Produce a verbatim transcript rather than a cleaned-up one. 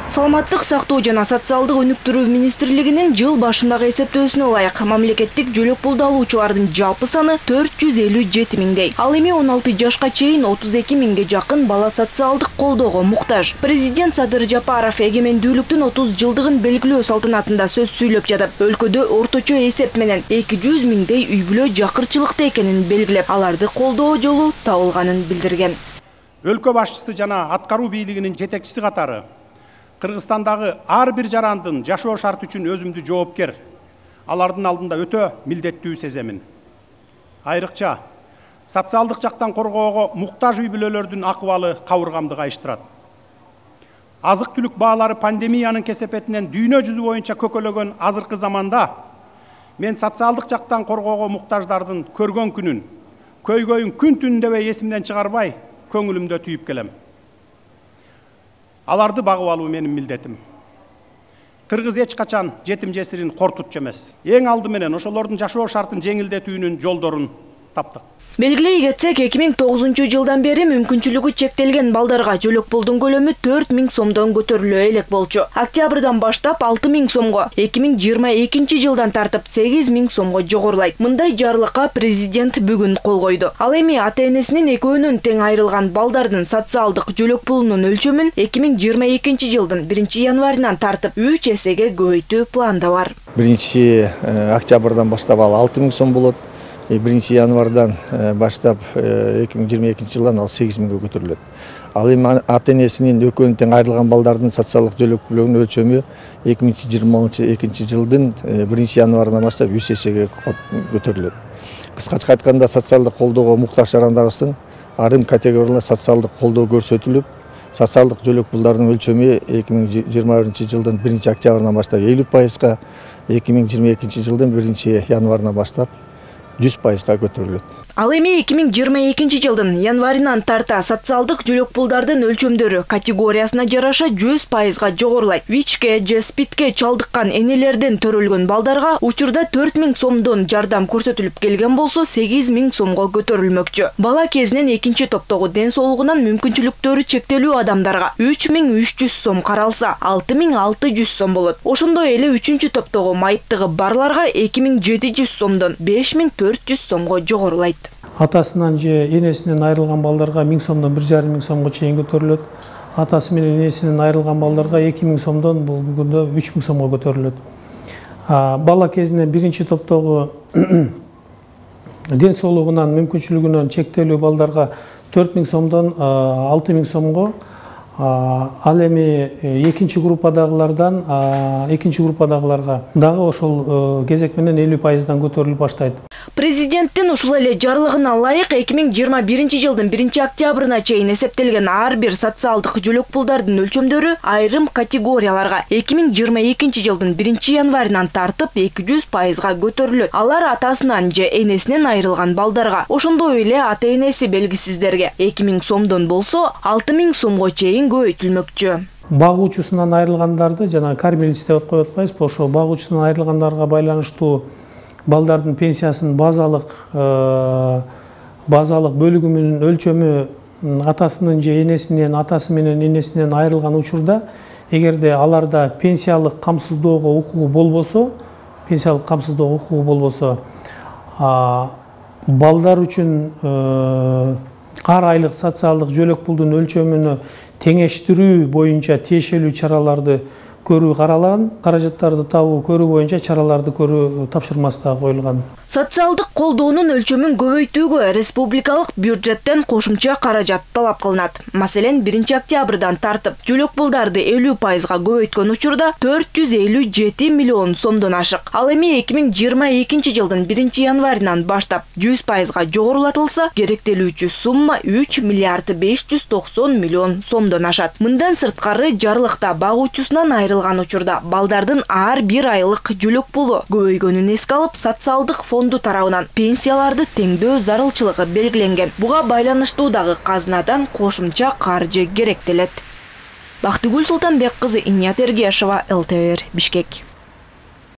Саламаттык сактоо жана социалдык өнүктүрүү министрлигинин жыл башындагы эсептөөсүнө ылайык мамлекеттик жөлөк пулду алуучулардын жалпы саны төрт жүз элүү жети миңдей. Ал эми он алты жашка чейин отуз эки миңге жакын бала социалдык колдоого муктаж. Президент Садыр Жапаров эгемендүүлүктүн отуз жылдыгын белгилөө салтанатында сөз сүйлөп жатып, өлкөдө орточо эсеп менен эки жүз миңдей үй бүлө жакырчылыкта экенин белгилеп, аларды колдоо жолу табылганын билдирген. Өлкө башчысы жана аткаруу бийлигинин жетекчиси катары Кыргызстандагы ар бир жарандын жашоо шарты үчүн өзүмдү жоопкер, алардын алдында өтө милдеттүү сеземин. Айрыкча социалдык жактан коргоого муктаж үй бүлөлөрдүн акыбалы кабыргамды кайыштырат. Азык-түлүк баалары пандемиянын кесепетинен дүйнө жүзү боюнча көкөлөгөн азыркы заманда мен социалдык жактан коргоого муктаждардын көргөн күнүн, көйгөйүн күн түн дебей эсимден чыгарбай, көңүлүмдө түйүп келем. Аларды багып алуу менин милдетим. Кыргыз эч качан жетим жесирин кортутчу эмес. Эң алды менен ошолордун жашоо шартын жеңилдетүүнүн жолдорун таптык. Белгилей кетсек, эки миң тогузунчу жылдан бери мүмкүнчүлүгү чектелген балдарга жөлөк пулдун көлөмү төрт миң сомдон көтөрүлө элек болчу. Октябрдан баштап алты миң сомго, эки миң жыйырма экинчи жылдан тартып сегиз миң сомго жогорулайт. Мындай жарлыкка президент бүгүн кол койду. Ал эми ата-энесинин экөөнөн тең айрылган балдардын социалдык жөлөк пулунун өлчөмүн эки миң жыйырма экинчи жылдын биринчи январынан тартып үч эсеге көбөйтүү планда бар. биринчи октябрдан баштап ал алты миң сом болот. биринчи январдан баштап эки миң жыйырма экинчи жылдан ал сегиз миңге көтөрүлөт. Ал эми ата-энесинин экөөнөн тең айрылган балдардын социалдык жөлөк пулунун өлчөмү эки миң жыйырма экинчи жылдын биринчи январынан баштап үч эсеге көтөрүлөт. Кыскача айтканда, социалдык колдоого муктаж жарандарыбыздын айрым категорияларына социалдык колдоо көрсөтүлүп, социалдык жөлөк пулдардын өлчөмү эки миң жыйырма биринчи жылдын биринчи октябрынан баштап элүү пайызга, эки миң жыйырма экинчи жылдын биринчи январынан баштап жүз пайызга көтөрүлөт. Ал эми эки миң жыйырма экинчи жылдын январынан тарта социалдык жөлөк пулдардын өлчөмдөрү категориясына жараша жүз пайызга жогорулайт. ВИЧке же СПИДке чалдыккан энелерден төрөлгөн балдарга учурда төрт миң сомдон жардам көрсөтүлүп келген болсо, сегиз миң сомго көтөрүлмөкчү. Бала кезинен экинчи топтогу ден соолугунан мүмкүнчүлүктөрү чектелүү адамдарга үч миң үч жүз сом каралса, алты миң алты жүз сом болот. Ошондой эле үчүнчү топтогу майыптыгы барларга эки миң жети жүз сомдон беш миң төрт жүз сомго жогорулайт. Атасынан же энесинен айрылган балдарга миң сомдон бир жарым миң сомго чейин көтөрүлөт. Атасы менен энесинен айрылган балдарга эки миң сомдон бул бүгүндө үч миң сомго көтөрүлөт. Бала кезинен биринчи топтогу ден соолугунан мүмкүнчүлүгүнөн чектелүү балдарга төрт миң сомдон алты миң сомго, ал эми экинчи группадагылардан экинчи группадагыларга дагы ошол кезек менен элүү пайыздан көтөрүлүп баштайт. Президенттин ушул эле жарлыгына ылайык эки миң жыйырма биринчи жылдын биринчи октябрына чейин эсептелген ар бир социалдык жөлөк пулдардын өлчөмдөрү айрым категорияларга эки миң жыйырма экинчи жылдын биринчи январынан тартып эки жүз пайызга көтөрүлөт. Алар атасынан же энесинен айрылган балдарга, ошондой эле ата-энеси белгисиздерге эки миң сомдон болсо, алты миң сомго чейин көбөйтүлмөкчү. Багуучусунан айрылгандарды жана кормилец деп коюп атпайбызбы, ошо багуучусунан айрылгандарга байланыштуу балдардын пенсиясынын базалык базалык бөлүгү менен өлчөмү атасынын же энесинен, атасы менен энесинен айрылган учурда, эгерде аларда пенсиялык камсыздоого укугу болбосо, пенсиялык камсыздоого укугу болбосо, балдар үчүн ар айлык социалдык жөлөк пулдун өлчөмүнө теңештирүү боюнча тиешелүү чараларды көрүү каралган, каражаттарды табуу көрүү боюнча чараларды көрүү тапшырмасы да коюлган. Социалдык колдоонун өлчөмүн көбөйтүүгө республикалык бюджеттен кошумча каражат талап кылынат. Маселен, биринчи октябрдан тартып жөлөк пулдарды элүү пайызга көбөйткөн учурда төрт жүз элүү жети миллион сомдон ашык. Ал эми эки миң жыйырма экинчи жылдын биринчи январынан баштап жүз пайызга жогорулатылса, керектелүүчү сумма үч миллиард беш жүз токсон миллион сомдон ашат. Мындан сырткары жарлыкта багуучусунан айрылган учурда балдардын ар бир айлык жөлөк пулу көбөйгөнүн эске алып, социалдык фонду тарабынан пенсияларды теңдөө зарылчылыгы белгиленген. Буга байланыштуу дагы казынадан кошумча каржы керектелет. Бактыгүл Султанбек кызы, Иният Эргешова, эл тэ эр, Бишкек.